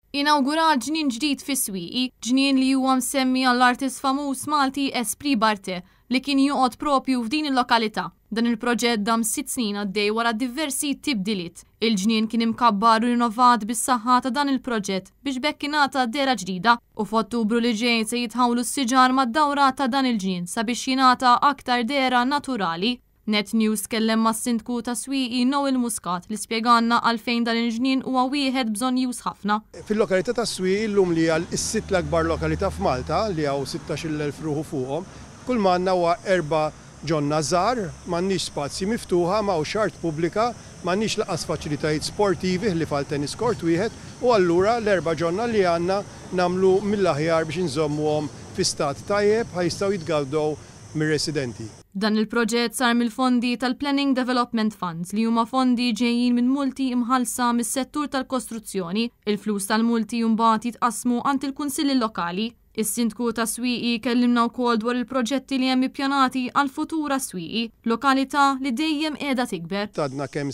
Inawgurat ġnien ġdid fis-Swieqi, ġnien li huwa msemmi għall-artist famuż Malti Esprit Barthe li kien joqgħod propju f'din il-lokalità. Dan il-proġett dam 6 snin għaddej wara diversi tibdiliet. Il-ġnien kien imkabbar u rinnovat bis-saħħa ta' dan il-proġett biex b'hekk ingħata dehra ġdida u f'Ottubru li ġej se jitħawlu s-siġar mad-dawra ta' dan il-ġnien sabiex jingħata aktar dehra naturali. Net News tkellem mas-sindku ta' Swieqi, Noel Muscat, li spjegalna għalfejn dan il-ġnien huwa wieħed bżonnjuż ħafna. Fil-lokalità ta' Swieqi llum, li hija s-sitt l-akbar lokalità f'Malta, li hawn 16,000 ruħu fuqhom, kull m'għandna huwa erba' ġonna żgħar, m'għandniex spazji miftuħa, m'hawnx art pubblika, m'għandniex lanqas faċilitajiet sportivi ħlief għal tennis court wieħed, u allura l-erba' ġonna li għandna nagħmlu mill-aħjar biex inżommuhom fi stat tajjeb ħa jistgħu jitgawdew mir-residenti. Dan il-proġett sar mill-fondi tal-Planning Development Funds, li huma fondi ġejjin minn multi imħallsa mis-settur tal-kostruzzjoni. Il-flus tal-multi mbagħad jitqasmu għand il-kunsilli lokali. Is-sindku ta' Swieqi kellimna wkoll dwar il-proġetti li hemm ippjanati għal futura Swieqi, lokalità li dejjem qiegħda tikber. Għadna kemm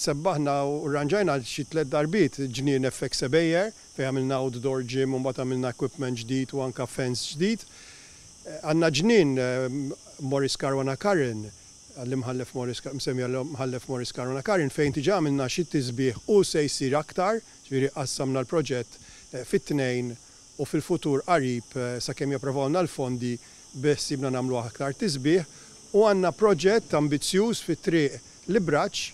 sebbaħna u rranġajna xi tliet darbiet ġnien FX Ebejer, fejn għamilna outdoor gym u mbagħad għamilna equipment ġdid u anka fence ġdid. Għandna ġnien Maurice Caruana Curran, għall-imħallef Maurice, msemmi għall-imħallef Maurice Caruana Curran, fejn diġà għamilna xi tisbiħ u se jsir aktar, ġifieri qassamna l-proġett fit-tnejn u fil-futur qarib, sakemm japprovawna l-fondi, beħsiebna nagħmlu aktar tisbiħ, u għandna proġett ambizzjuż fit-triq Libraċ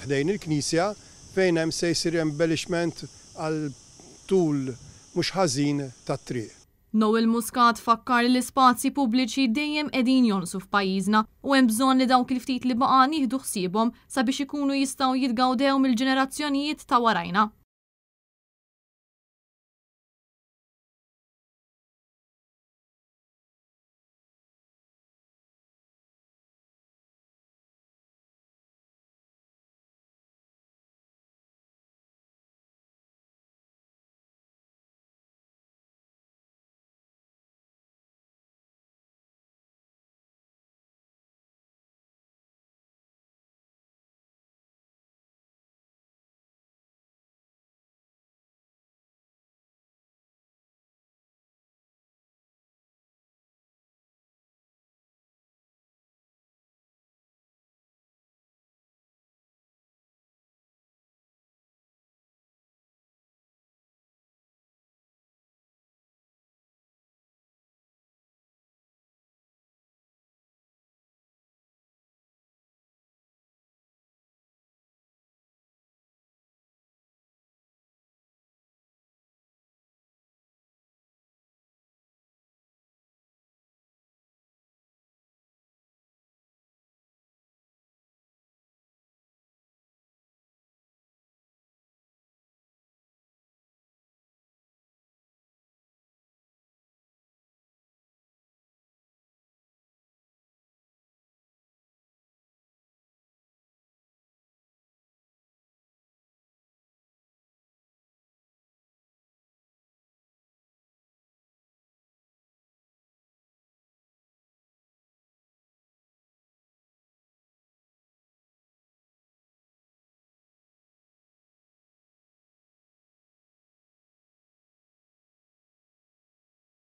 ħdejn il-Knisja, fejn hemm se jsir embellishment għal tul mhux ħażin tat-triq. Noel Muscat fakkar li l-ispazji pubbliċi dejjem qegħdin jonqsu f'pajjiżna u hemm bżonn li dawk il-ftit li baqa' nieħdu ħsiebhom sabiex ikunu jistgħu jitgawdew mill-ġenerazzjonijiet ta' warajna.